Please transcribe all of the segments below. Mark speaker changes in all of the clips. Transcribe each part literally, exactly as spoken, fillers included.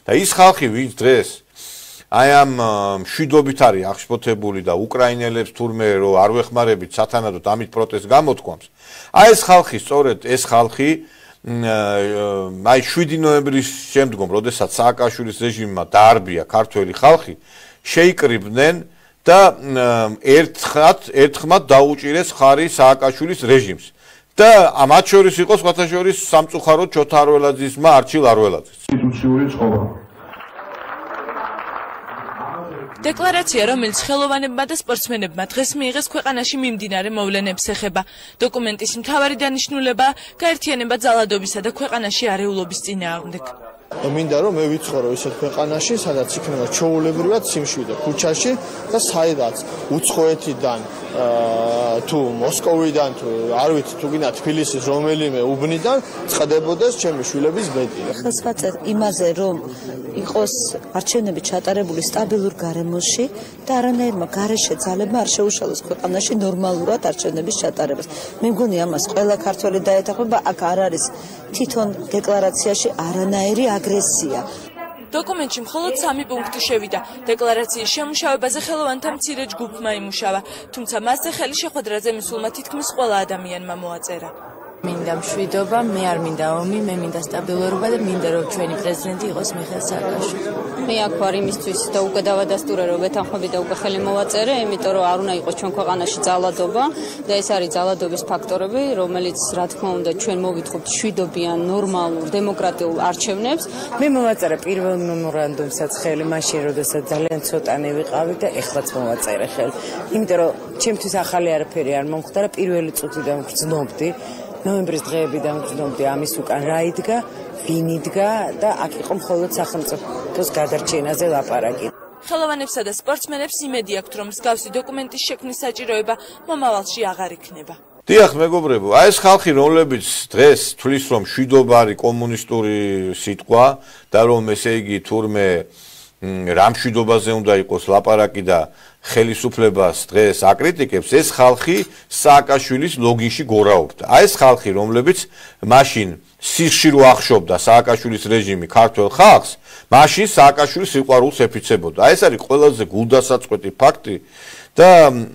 Speaker 1: და ის ხალხი, ვინც დღეს აი ამ მშვიდობით არის აღშფოთებული და უკრაინელებს თურმე რომ არ ვეხმარებით სათანადოდ ამით პროტესტს გამოთქვამს. აი ეს ხალხი, სწორედ ეს ხალხი აი შვიდი ნოემბრის შემდგომ, როდესაც სააკაშვილის რეჟიმმა დაარბია ქართველი ხალხი, შეიკრიბნენ და ერთხმად ერთხმად დაუჭირეს ხარი სააკაშვილის რეჟიმს. და მათ შორის იყო სხვათა შორის სამწუხაროდ ჩოთა არველაძის ძმა არჩილ არველაძის.
Speaker 2: ინსტიტუციური ცხოვრება.
Speaker 3: დეკლარაცია, რომელიც ხელოვანებმა და სპორტსმენებმა დღეს მიიღეს ქვეყანაში მიმდინარე მოვლენებს ეხება. დოკუმენტის მთავარი დანიშნულება გაერთიანება ძალადობისა და ქვეყანაში არეულობის წინააღმდეგ.
Speaker 4: მინდა რომ მე ვიცხოვრო ისეთ ქვეყანაში, სადაც იქნება ჩვეულებრივად სიმშვიდე ქუჩაში და საიდაც უცხოეთიდან თუ მოსკოვიდან თუ არ ვიცი თუ გინდა თბილისის რომელიმე უბნიდან წდებოდეს ჩემი შვილების ბედი.
Speaker 5: ხელს ვაწერ იმაზე რომ იყოს არჩევნები ჩატარებული სტაბილურ გარემოში და არანაირმა გარეშე ძალებმა არ შეუშალოს ქვეყანაში ნორმალურად არჩევნების ჩატარებას. მე მგონი ამას ყველა ქართველი დაეთანხმება, აქ არ არის თვითონ დეკლარაციაში არანაირი აგრესია.
Speaker 3: დოკუმენტში მხოლოდ სამი პუნქტი შევიდა. დეკლარაციის შემუშავებაზე ხელოვანთა მცირე ჯგუფმა იმუშავა, თუმცა მასზე ხელი შეხვედრაზე მისულმა თითქმის ყველა ადამიანმა მოაწერა.
Speaker 6: მინდა მშვიდობა, მე არ მინდა ომი, მე მინდა სტაბილურობა და მინდა რომ ჩვენი პრეზიდენტი იყოს მიხეილ სააკაშვილი.
Speaker 7: მე აქ ვარ იმისთვის და უკვე დავადასტურე რომ ვეთანხმები და უკვე ხელი მოვაწერე, იმიტომ რომ არ უნდა იყოს ჩვენ ქვეყანაში ძალადობა და ეს არის ძალადობის ფაქტორები, რომელიც რა თქმა უნდა ჩვენ მოვიტყობთ მშვიდობიან, ნორმალურ, დემოკრატიულ არჩევნებს.
Speaker 6: მე მოვაწერე პირველ მემორანდუმსაც ხელი მაშინ, როდესაც ძალიან ცოტანი ვიყავი და ეხლაც მოვაწერე ხელი. იმიტომ რომ ჩემთვის ახალი არაფერი არ მომხდარა, პირველი წუთიდან ვგრძნობდი. ნოემბრის დღეებიდან ვგრძნობდი ამის უკან რა იდგა, ვინ იდგა და აქ იყო მხოლოდ სახელმწიფოს გადარჩენაზე ლაპარაკი.
Speaker 3: ხელოვანებსა და სპორტსმენებს იმედი აქვთ, რომ მსგავსი დოკუმენტის შექმნის საჭიროება მომავალში აღარ იქნება.
Speaker 1: დიახ, მეგობრებო, აი ეს ხალხი, რომლებიც დღეს თვლის, რომ მშვიდობა არის კომუნისტური სიტყვა და რომ ესე იგი თურმე რა მშვიდობაზე უნდა იყოს ლაპარაკი და ხელისუფლებას დღეს აკრიტიკებს, ეს ხალხი სააკაშვილის ლოგინში გორაობდა. აი ეს ხალხი, რომლებიც მაშინ სიხში რო ახშობდა სააკაშვილის რეჟიმი ქართველ ხალხს, მაშინ სააკაშვილის სიყვარულს ეფიცებოდა. აი ეს არის ყველაზე გულდასაწყვეტი ფაქტი და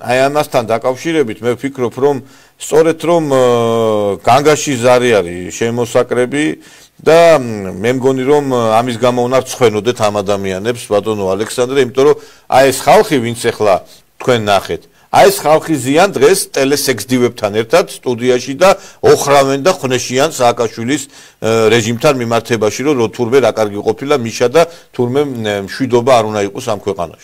Speaker 1: აი ამასთან დაკავშირებით მე ვფიქრობ, რომ სწორედ რომ განგაში ზარი არის შემოსაკრები და მე მგონი რომ ამის გამო უნდა ვცხვენოდეთ ამ ადამიანებს, ბატონო ალექსანდრე, იმიტომ რომ აი ეს ხალხი, ვინც ახლა თქვენ ნახეთ, აი ეს ხალხი ზიან დღეს ტელესექსდივებთან ერთად სტუდიაში და ოხრავენ და ხნეშიან სააკაშვილის რეჟიმთან მიმართებაში, რომ თურმე რა კარგი ყოფილა მიშა და თურმე მშვიდობა არ უნდა იყოს ამ ქვეყანაში.